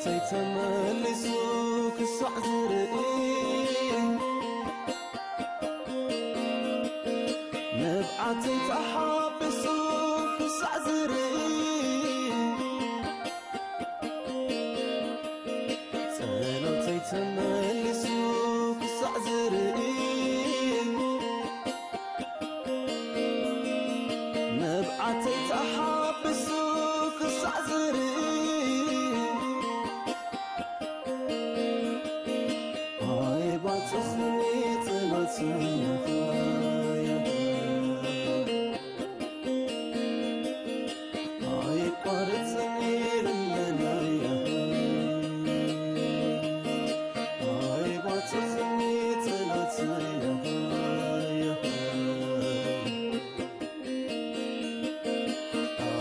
ተመሊሱ ክሳዕ ዝርኢ፣ ንብዓተይ ተሓቢሱ ክሳዕ ዝርኢ፣ ጸሎተይ ተመሊሱ ክሳዕ ዝርኢ፣ ንብዓተይ ተሓቢሱ ክሳዕ ዝርኢ፣ ኣይባጽሕኒ ጸሎተይ። ኣይቋርጽኒ ልመናይ። ኣይባጽሕኒ ጸሎተይ።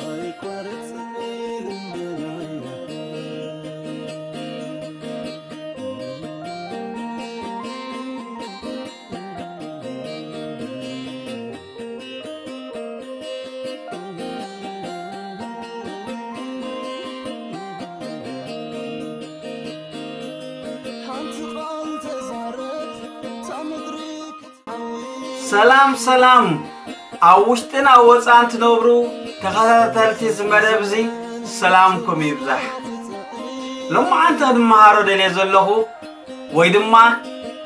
ኣይቋርጽኒ ልመናይ። ሓንቲ ቃል ተዛረብ፣ እታ ምድሪ ክትሓዊ። ሰላም ሰላም፣ ኣብ ውሽጥን ኣብ ወፃን ትነብሩ ተኸታተልቲ እዚ መደብ እዚ ሰላምኩም ይብዛሕ። ሎማዓንቲ ክንመሃሮ ደልየ ዘለኹ ወይ ድማ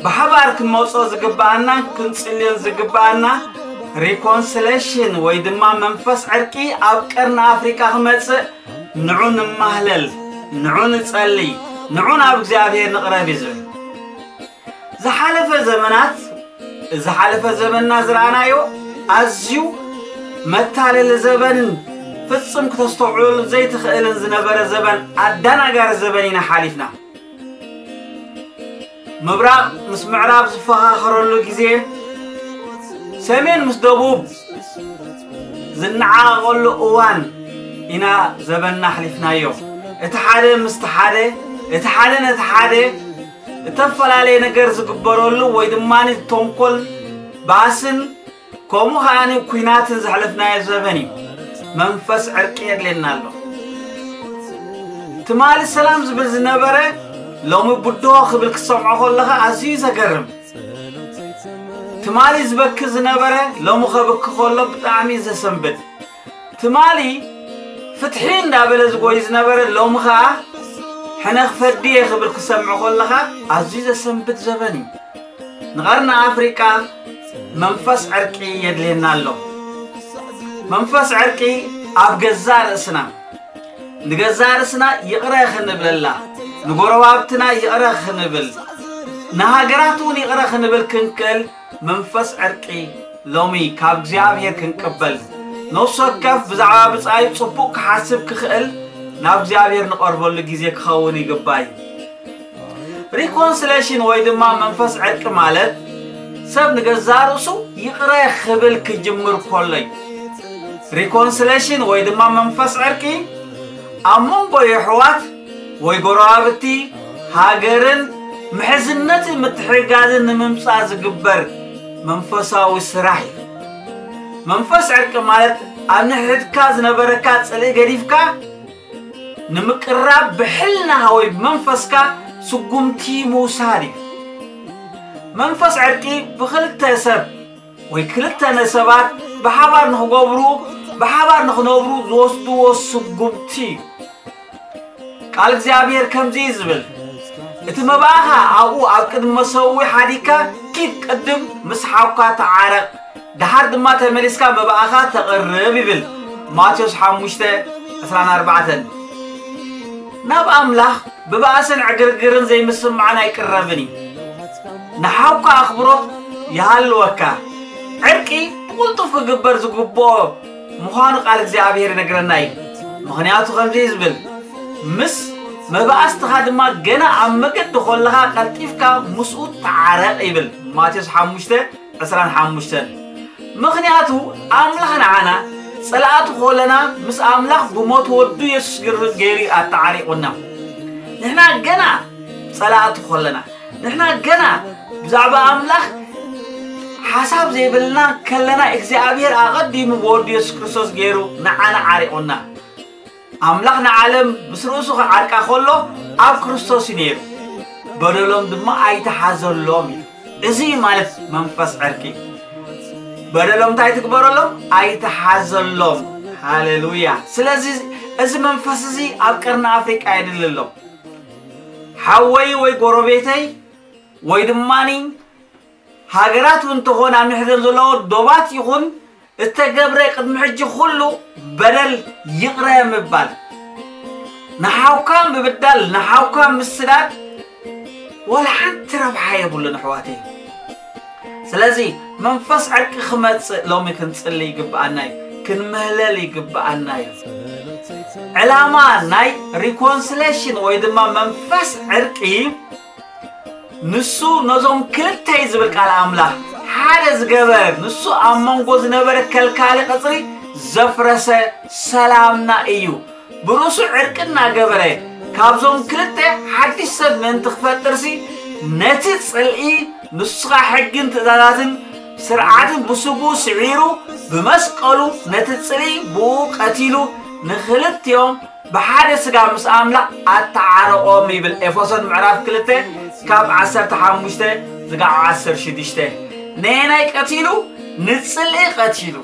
ብሓባር ክንመጾ ዝግብኣና ክንጽልዮን ዝግብኣና ሪኮንስሌሽን ወይ ድማ መንፈስ ዕርቂ ኣብ ቀርኒ ኣፍሪቃ ክመጽእ ንዑ ንማህለል፣ ንዑ ንጸሊ፣ ንዑ ናብ እግዚኣብሔር ንቕረብ እዩ ዝብል። ዝሓለፈ ዘመናት፣ ዝሓለፈ ዘመንና ዝረኣናዮ ኣዝዩ መታለሊ ዘበንን ፍጽም ክተስተውዕለሉ ዘይትኽእልን ዝነበረ ዘበን ኣዳናጋሪ ዘበን ኢና ሓሊፍና። ምብራቕ ምስ ምዕራብ ዝፈኻኸረሉ ግዜ፣ ሰሜን ምስ ደቡብ ዝነዓቐሉ እዋን ኢና ዘበንና ኣሕሊፍናዮ። እቲ ሓደ ምስቲ ሓደ፣ እቲ ሓደ ነቲ ሓደ እተፈላለየ ነገር ዝግበረሉ ወይ ድማ ተንኮል፣ ባእስን ከምኡ ከኣ ኲናትን ዘሕለፍናዮ ዘበን እዩ። መንፈስ ዕርቂ የድልየና ኣሎ። ትማሊ ሰላም ዝብል ዝነበረ ሎሚ ብድሆ ክብል ክሰምዖ ከለኻ ኣዝዩ ዘገርም። ትማሊ ዝበኪ ዝነበረ ሎሚ ከብኪ ከሎ ብጣዕሚ ዘሰንብድ። ትማሊ ፍትሒ እንዳበለ ዝጎይ ዝነበረ ሎሚ ኸኣ ሕነ ክፈዲ እየ ክብል ክሰምዖ ከለኻ ኣዝዩ ዘሰንብድ ዘበን እዩ። ንቐርኒ ኣፍሪቃ መንፈስ ዕርቂ የድልየና ኣሎ። መንፈስ ዕርቂ ኣብ ገዛእ ርእስና፣ ንገዛእ ርእስና ይቕረ ክንብለላ፣ ንጎረባብትና ይቕረ ክንብል፣ ንሃገራት እውን ይቕረ ክንብል ክንክእል መንፈስ ዕርቂ ሎሚ ካብ እግዚኣብሔር ክንቅበል፣ ነፍሲ ወከፍ ብዛዕባ ብጻዩ ጽቡቕ ክሓስብ ክኽእል ናብ እግዚኣብሔር ንቐርበሉ ግዜ ክኸውን ይግባእ እዩ። ሪኮንስሌሽን ወይ ድማ መንፈስ ዕርቂ ማለት ሰብ ንገዛእ ርእሱ ይቕረ ክብል ክጅምር ከሎ እዩ። ሪኮንስሌሽን ወይ ድማ መንፈስ ዕርቂ ኣብ መንጎ የሕዋት ወይ ጎረባብቲ፣ ሃገርን ምሕዝነትን ምትሕግጋዝን ንምምጻእ ዝግበር መንፈሳዊ ስራሕ እዩ። መንፈስ ዕርቂ ማለት ኣብ ንሕድካ ዝነበረካ ጽልኢ ገዲፍካ ንምቅራብ ብሕልናኻ ወይ ብመንፈስካ ስጉምቲ ምውሳድ እዩ። መንፈስ ዕርቂ ብኽልተ ሰብ ወይ ክልተ ነሰባት ብሓባር ንኽገብሩ፣ ብሓባር ንኽነብሩ ዝወስድዎ ስጉምቲ እዩ። ቃል እግዚኣብሔር ከምዚ እዩ ዝብል፣ እቲ መባእኻ ኣብኡ ኣብ ቅድሚ መሰዊ ሓዲግካ ኪድ ቅድም ምስ ሓውካ ተዓረቕ፣ ደሓር ድማ ተመሊስካ መባእኻ ተቕርብ ይብል። ማቴዎስ ሓሙሽተ ዕስራን ኣርባዕተን። ናብ ኣምላኽ ብባእስን ዕግርግርን ዘይምስምማዕን ኣይቅረብን እዩ። ንሓውካ ኣኽብሮት ይሃልወካ። ዕርቂ ብቕልጡፍ ክግበር ዝግብኦ ምዃኑ ቃል እግዚኣብሔር ይነግረና እዩ። ምኽንያቱ ከምዚ እዩ ዝብል፣ ምስ መባእስትኻ ድማ ገና ኣብ መገዲ ኮለኻ ቀልጢፍካ ምስኡ ተዓረቕ ይብል። ማቴዎስ ሓሙሽተ ዕስራን ሓሙሽተን። ምኽንያቱ ኣምላኽ ንዓና ጸላእቱ ኮለና ምስ ኣምላኽ ብሞት ወዱ የሱስ ግር-፣ ገይሩ ኣተዓሪቑና። ንሕና ገና ጸላእቱ ኮለና፣ ንሕና ገና ብዛዕባ ኣምላኽ ሓሳብ ዘይብልና ከለና እግዚኣብሔር ኣቐዲሙ ብወዱ የሱስ ክርስቶስ ገይሩ ንዓና ዓሪቑና። ኣምላኽ ንዓለም ምስ ርእሱ ክዓርቃ ከሎ ኣብ ክርስቶስ እዩ ነይሩ፣ በደሎም ድማ ኣይተሓዘሎም እዩ። እዚ ማለት መንፈስ ዕርቂ። በደሎም እንታይ ትግበረሎም? ኣይተሓዘሎም። ሃሌሉያ። ስለዚ እዚ መንፈስ እዚ ኣብ ቀርኒ ኣፍሪቃ የድሊ ኣሎ። ሓወይ ወይ ጎረቤተይ ወይ ድማኒ ሃገራት እውን ተኾን ኣብ ንሕዘን ዘለዎ ዶባት ይኹን እተገብረ ቅድሚ ሕጂ ኩሉ በደል ይቕረ ምባል፣ ንሓውካ ምብዳል፣ ንሓውካ ምስዳድ ወላ ሓንቲ ረብሓ የብሉን ኣሕዋተይ። ስለዚ መንፈስ ዕርቂ ክመጽእ ሎሚ ክንጽሊ ይግብኣና እዩ፣ ክንምህለል ይግብኣና እዩ። ዕላማ ናይ ሪኮንስሌሽን ወይ ድማ መንፈስ ዕርቂ ንሱ ነዞም ክልተ እዩ ዝብል ቃል ኣምላኽ፣ ሓደ ዝገበረ፣ ንሱ ኣብ መንጎ ዝነበረ ከልካሊ ቀጽሪ ዘፍረሰ ሰላምና እዩ። ብርእሱ ዕርቂ እናገበረ ካብዞም ክልተ ሓድሽ ሰብ ምእንቲ ክፈጥርሲ ነቲ ጽልኢ ንስኻ ሕግን ትእዛዛትን ስርዓትን ብስጉ ስዒሩ ብመስቀሉ ነቲ ጽልኢ ብኡ ቀቲሉ ንክልቲኦም ብሓደ ስጋ ምስ ኣምላኽ ኣተዓረቖም ይብል ኤፌሶን ምዕራፍ ክልተ ካብ ዓሰርተ ሓሙሽተ ዝጋዕ ዓሰርተ ሽዱሽተ። ነየናይ ቀቲሉ? ንጽልኢ ቀቲሉ።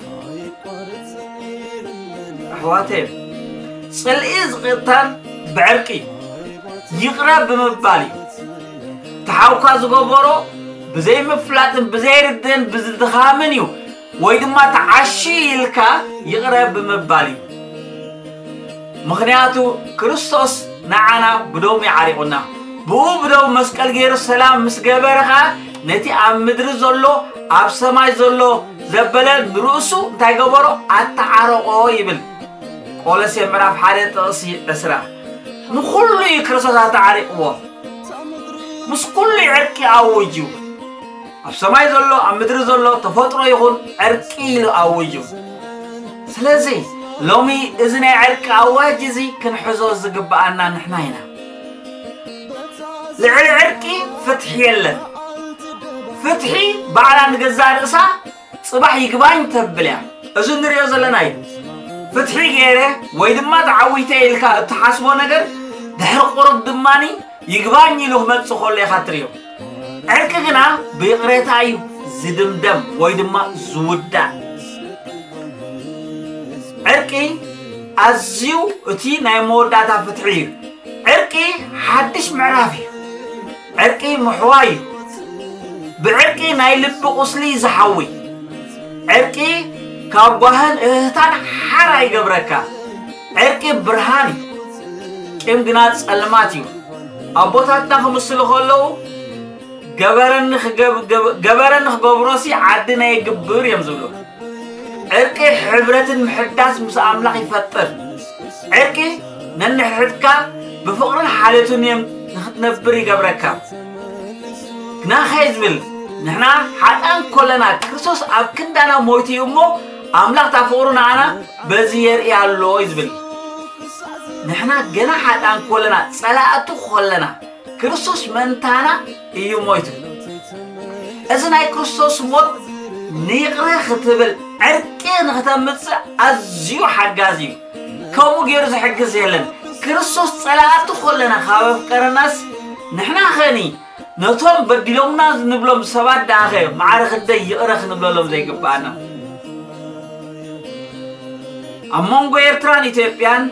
ኣሕዋተይ፣ ጽልኢ ዝቕተል ብዕርቂ ይቕረ ብምባል እዩ። ተሓውካ ዝገበሮ ብዘይምፍላጥን ብዘይርድእን ብዝድኻምን እዩ፣ ወይ ድማ ተዓሺ ኢልካ ይቕረ ብምባል እዩ። ምኽንያቱ ክርስቶስ ንዓና ብደሙ ይዓሪቑና። ብኡ ብደሙ መስቀል ገይሩ ሰላም ምስ ገበረ ኸኣ ነቲ ኣብ ምድሪ ዘሎ ኣብ ሰማይ ዘሎ ዘበለ ንርእሱ እንታይ ገበሮ? ኣተዓረቖ ይብል። ቆሎሴ ምዕራፍ ሓደ ጥቕሲ ዕስራ። ንኹሉ እዩ ክርስቶስ ኣተዓሪቕዎ። ምስ ኩሉ ዕርቂ ኣውጅ እዩ። ኣብ ሰማይ ዘሎ ኣብ ምድሪ ዘሎ ተፈጥሮ ይኹን ዕርቂ ኢሉ ኣውጅ እዩ። ስለዚ ሎሚ እዚ ናይ ዕርቂ ኣዋጅ እዚ ክንሕዞ ዝግብኣና ንሕና ኢና። ልዕሊ ዕርቂ ፍትሒ የለን። ፍትሒ ባዕላ ንገዛእ ርእሳ ጽባሕ ይግባኝ ተብል እያ። እዚ ንሪኦ ዘለና እዩ። ፍትሒ ገይረ ወይ ድማ ተዓዊተ ኢልካ እትሓስቦ ነገር ድሕሪ ቁሩብ ድማኒ ይግባኝ ኢሉ ክመጽእ ከሎ ኢኻ ትሪኦ። ዕርቂ ግና ብይቕሬታ እዩ ዝድምደም ወይ ድማ ዝውዳእ። ዕርቂ ኣዝዩ እቲ ናይ መወዳእታ ፍትሒ እዩ። ዕርቂ ሓድሽ ምዕራፍ እዩ። ዕርቂ ምሕዋይ እዩ። ብዕርቂ ናይ ልቢ ቁስሊ ዝሓዊ። ዕርቂ ካብ ጓህን እህህታን ሓራ ይገብረካ። ዕርቂ ብርሃን እዩ። ቂም ግና ጸልማት እዩ። ኣቦታትና ክምስሉ ከለዉ ገበረኒ ክገብ- ገብ- ገበረኒ ክገብሮሲ ዓዲ ናይ ግብር እዮም ዝብሉ። ዕርቂ ሕብረትን ምሕዳስ ምስ ኣምላኽ ይፈጥር። ዕርቂ ነንሕድሕድካ ብፍቕርን ሓልዮትን እዮም ንኽትነብር ይገብረካ። ግናኸ ዝብል ንሕና ሓጣን ኮለና ክርስቶስ ኣብ ክንዳና ሞይቱ እዩ እሞ ኣምላኽ እታ ፍቕሩ ንዓና በዚ የርኢ ኣሎ እዩ ዝብል። ንሕና ገና ሓጣን ኮለና ጸላእቱ ኮለና ክርስቶስ መንታና እዩ ሞይቱ። እዚ ናይ ክርስቶስ ሞት ንይቕረ ክትብል ዕርቂ ንክተምጽእ ኣዝዩ ሓጋዚ እዩ። ከምኡ ገይሩ ዝሕግዝ የለን። ክርስቶስ ጸላእቱ ኮለና ካብ ኣፍቀረናስ ንሕና ኸኒ ነቶም በዲሎምና ንብሎም ሰባት ደኣኸ ማዕረ ክንደይ ይቕረ ክንብለሎም ዘይግብኣና? ኣብ መንጎ ኤርትራን ኢትዮጵያን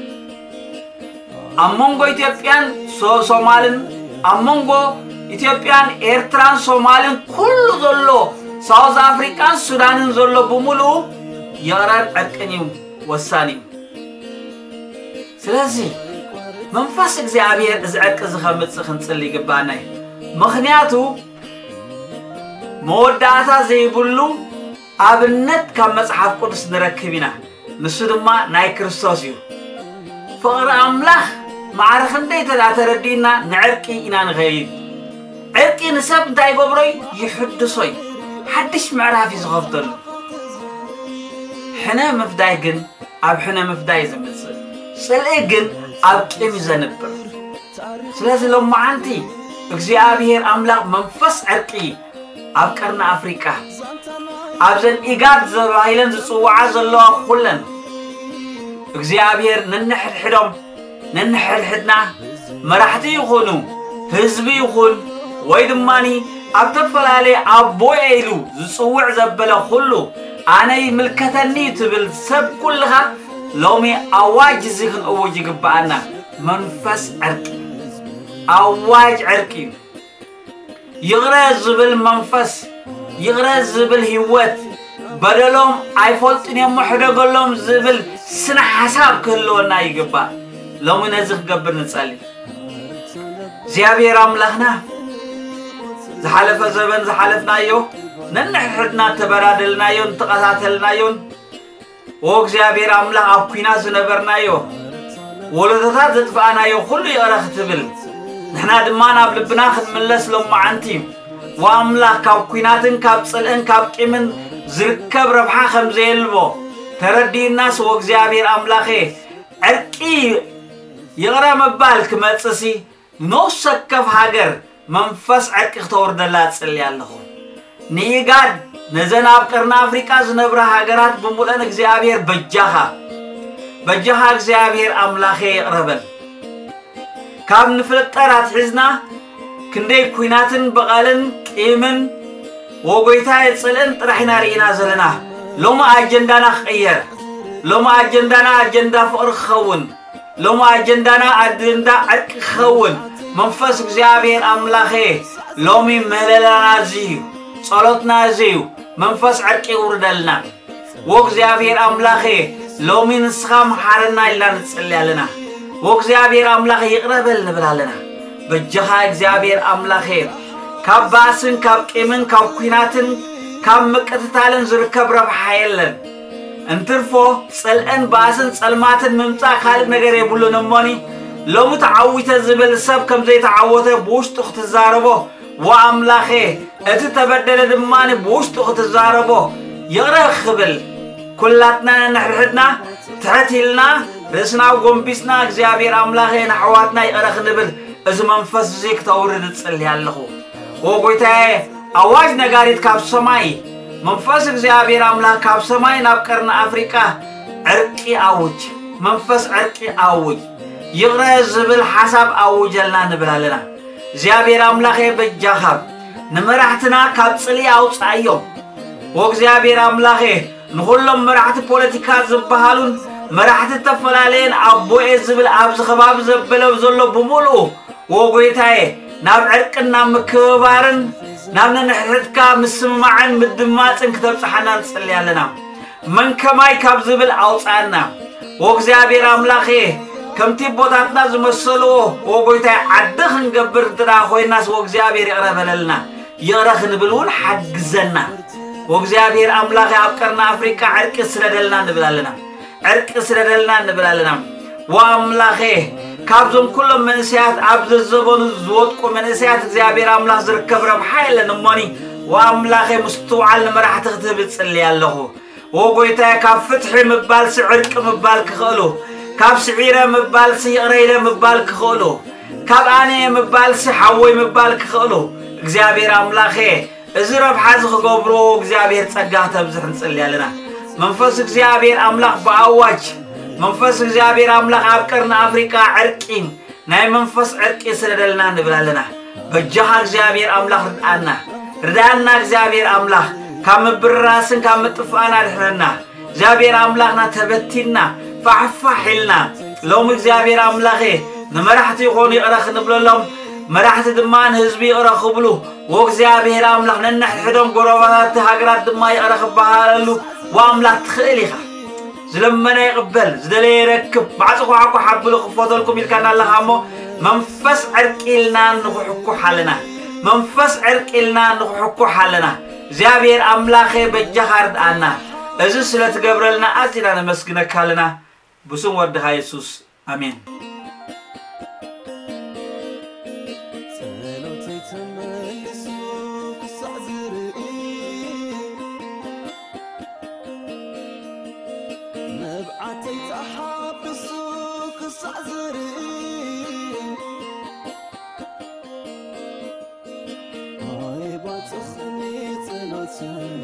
ኣብ መንጎ ኢትዮጵያን ሶ- ሶማልን ኣብ መንጎ ኢትዮጵያን ኤርትራን ሶማልን ኩሉ ዘሎ ሳውዝ ኣፍሪቃን ሱዳንን ዘሎ ብምሉኡ ይቕረን ዕርቅን እዩ ወሳኒ እዩ። ስለዚ መንፈስ እግዚኣብሔር እዚ ዕርቂ እዚ ከምጽእ ክንጽሊ ይግባና እዩ። ምኽንያቱ መወዳእታ ዘይብሉ ኣብነት ካብ መጽሓፍ ቅዱስ ንረክብ ኢና። ንሱ ድማ ናይ ክርስቶስ እዩ። ፍቕሪ ኣምላኽ ማዕረ ክንደይ እንተ ደኣ ተረዲእና ንዕርቂ ኢና ንኸይድ። ዕርቂ ንሰብ እንታይ ይገብሮ እዩ? ይሕድሶ እዩ። ሓድሽ ምዕራፍ እዩ ዝኸፍተሉ። ሕነ ምፍዳይ ግን ኣብ ሕነ ምፍዳይ እዩ ዘምጽእ። ጽልኢ ግን ኣብ ቂም እዩ ዘንብር። ስለዚ ሎማዓንቲ እግዚኣብሔር ኣምላኽ መንፈስ ዕርቂ ኣብ ቀርኒ ኣፍሪቃ ኣብዘን ኢጋድ ዘባሂለን ዝጽውዓ ዘለዋ ኩለን እግዚኣብሔር ነንሕድሕዶም ነንሕድሕድና መራሕቲ ይኹኑ፣ ህዝቢ ይኹን፣ ወይ ድማኒ ኣብ ተፈላለየ ኣቦየ ኢሉ ዝጽውዕ ዘበለ ኩሉ፣ ኣነ ይምልከተኒ ትብል ሰብ ኩልኻ፣ ሎሚ ኣዋጅ እዚ ክንእውጅ ይግብኣና። መንፈስ ዕርቂ፣ ኣዋጅ ዕርቂ እዩ። ይቕረ ዝብል መንፈስ፣ ይቕረ ዝብል ህይወት፣ በደሎም ኣይፈልጡን እዮም ሕደገሎም ዝብል ስነ ሓሳብ ክህልወና ይግባእ። ሎሚ ነዚ ክገብር ንጸሊ። እግዚኣብሔር ኣምላኽና፣ ዝሓለፈ ዘበን ዝሓለፍናዮ፣ ነንሕድሕድና እተበዳደልናዮን እተቐታተልናዮን፣ ኦ እግዚኣብሔር ኣምላኽ፣ ኣብ ኲናት ዝነበርናዮ፣ ወለዶታት ዘጥፋእናዮ ኩሉ ይቕረ ክትብል፣ ንሕና ድማ ናብ ልብና ክንምለስ ሎማዓንቲ፣ ወኣምላኽ፣ ካብ ኲናትን ካብ ጽልእን ካብ ቂምን ዝርከብ ረብሓ ከም ዘየልቦ ተረዲእናስ፣ ወእግዚኣብሔር ኣምላኸ፣ ዕርቂ ይቕረ ምባል ክመጽእሲ፣ ንነፍሲ ወከፍ ሃገር መንፈስ ዕርቂ ክተውርደላ እጽሊ ኣለኹ። ንኢጋድ፣ ነዘን ኣብ ቀርኒ ኣፍሪቃ ዝነብራ ሃገራት ብምሉአን እግዚኣብሔር በጃኻ፣ በጃኻ እግዚኣብሔር ኣምላኸ ይቕረ በል። ካብ ንፍጠር ኣትሒዝና ክንደይ ኲናትን በቐልን ቂምን ወጎይታየ ጽልእን ጥራሕ ኢና ርኢና ዘለና። ሎሚ ኣጀንዳና ክቕየር፣ ሎሚ ኣጀንዳና ኣጀንዳ ፍቕሪ ክኸውን፣ ሎሚ ኣጀንዳና ኣጀንዳ ዕርቂ ክኸውን መንፈስ እግዚኣብሔር ኣምላኸ ሎሚ ምህለላና እዚ እዩ፣ ጸሎትና እዚ እዩ። መንፈስ ዕርቂ ይውርደልና። ወእግዚኣብሔር ኣምላኸ፣ ሎሚ ንስኻ መሓረና ኢልና ንጽሊ ኣለና። ወእግዚኣብሔር ኣምላኸ፣ ይቕረ በል ንብል ኣለና። በጃኻ እግዚኣብሔር ኣምላኸ፣ ካብ ባእስን ካብ ቂምን ካብ ኲናትን ካብ ምቅትታልን ዝርከብ ረብሓ የለን። እንትርፎ ጽልእን ባእስን ጸልማትን ምምጻእ ካልእ ነገር የብሉን። እሞኒ ሎሚ ተዓዊተ ዝብል ሰብ ከም ዘይተዓወተ ብውሽጡ ክትዛረቦ፣ ወኣምላኸ፣ እቲ ተበደለ ድማ ብውሽጡ ክትዛረቦ ይቕረ ክብል፣ ኩላትና ነንሕድሕድና ትሕት ኢልና ርእስና ጎንቢስና እግዚኣብሔር ኣምላኸ ንኣሕዋትና ይቕረ ክንብል እዚ መንፈስ እዚ ክተውርድ እጽሊ ኣለኹ። ኦ ጎይታየ፣ ኣዋጅ ነጋሪት ካብ ሰማይ፣ መንፈስ እግዚኣብሔር ኣምላኽ ካብ ሰማይ ናብ ቀርኒ ኣፍሪቃ ዕርቂ ኣውጅ፣ መንፈስ ዕርቂ ኣውጅ፣ ይቕረ ዝብል ሓሳብ ኣውጀልና ንብል ኣለና። እግዚኣብሔር ኣምላኸ በጃኻ ንመራሕትና ካብ ጽልኢ ኣውጽኣዮም። ኦ እግዚኣብሔር ኣምላኸ ንኹሎም መራሕቲ ፖለቲካ ዝበሃሉን መራሕቲ ዝተፈላለየን ኣቦኤ ዝብል ኣብዚ ከባቢ ዘበለ ዘሎ ብምሉኡ ኦ ጎይታየ ናብ ዕርቅን ናብ ምክብባርን ናብ ነንሕድሕድካ ምስምማዕን ምድማፅን ክተብፅሓና ንፅሊ ኣለና። መን ከማይ ካብ ዝብል ኣውፅኣና። ኦ እግዚኣብሔር ኣምላኸ፣ ከምቲ ኣቦታትና ዝመሰልዎ፣ ኦ ጎይታይ፣ ዓዲ ክንገብር እንተ ደኣ ኮይናስ፣ ኦ እግዚኣብሔር፣ ይቕረ በለልና። ይቕረ ክንብል እውን ሓግዘና። ኦ እግዚኣብሔር ኣምላኸ፣ ኣብ ቀርኒ ኣፍሪቃ ዕርቂ ስደደልና ንብል ኣለና። ዕርቂ ስደደልና ንብል ኣለና። ኦ ኣምላኸ፣ ካብዞም ኩሎም መንእሰያት ኣብ ዘዘበኑ ዝወድቁ መንእሰያት እግዚኣብሔር ኣምላኽ ዝርከብ ረብሓ የለን። እሞኒ፣ ኦ ኣምላኸ፣ ምስትውዓል ንመራሕቲ ክትህብ እጽሊ ኣለኹ። ኦ ጎይታየ፣ ካብ ፍትሒ ምባልሲ ዕርቂ ምባል ክኽእሉ፣ ካብ ስዒረ ምባልሲ ይቕረ ኢለ ምባል ክኽእሉ፣ ካብ ኣነ ምባልሲ ሓወይ ምባል ክኽእሉ፣ እግዚኣብሔር ኣምላኸ፣ እዚ ረብሓ እዚ ክገብርዎ እግዚኣብሔር ጸጋ ክተብዝሕ ንጽሊ ኣለና። መንፈስ እግዚኣብሔር ኣምላኽ ብኣዋጅ፣ መንፈስ እግዚኣብሔር ኣምላኽ ኣብ ቀርኒ ኣፍሪቃ ዕርቂ፣ ናይ መንፈስ ዕርቂ ስደደልና ንብል ኣለና። በጃኻ እግዚኣብሔር ኣምላኽ ርድኣና። ርድኣና እግዚኣብሔር ኣምላኽ፣ ካብ ምብርራስን ካብ ምጥፋእን ኣድሕነና። እግዚኣብሔር ኣምላኽና ተበቲንና፣ ፋሕፋሕ ኢልና። ሎሚ እግዚኣብሔር ኣምላኸ፣ ንመራሕቲ ይኾኑ ይቕረ ክንብለሎም፣ መራሕቲ ድማ ንህዝቢ ይቕረ ክብሉ፣ ወእግዚኣብሔር ኣምላኽ ነንሕድሕዶም ጎረባብቲ ሃገራት ድማ ይቕረ ክበሃለሉ፣ ወኣምላኽ ትኽእል ኢኻ። ዝለመነ ይቕበል፣ ዝደለየ ይረክብ፣ ማዕጾ ኳዕኳዕ ኣብሉ ክፈተልኩም ኢልካና ኣለኻ እሞ፣ መንፈስ ዕርቂ ኢልና ንኽሕኩሕ ኣለና። መንፈስ ዕርቂ ኢልና ንኽሕኩሕ ኣለና። እግዚኣብሔር ኣምላኸ በጃኻ ርድኣና። እዚ ስለ ትገብረልና ኣዚና ነመስግነካ ኣለና። ብስም ወድኻ የሱስ፣ ኣሜን። ጸሎተይ ተመሊሱ ክሳዕ ዝርኢ፣ መብዓተይ ተሓቢሱ ክሳዕ ዝርኢ፣ ኣይባጽኽኒ ጸሎተይ።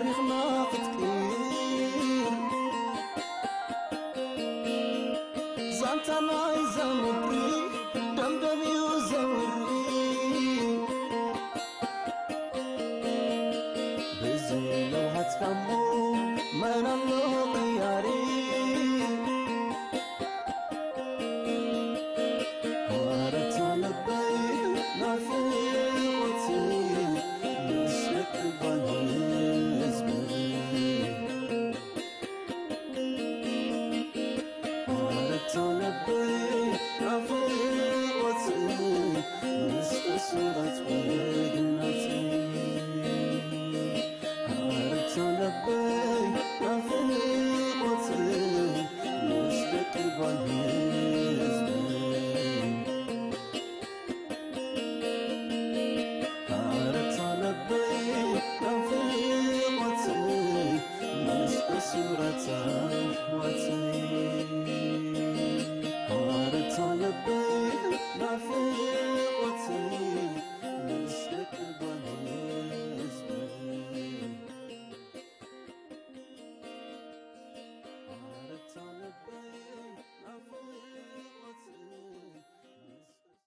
ታሪኽና ክትቅይር ዛንታ ናይዛ ምድሪ ደምደም እዩ ዘውሪ። ብዘይ ለውሃት ካሞ መናን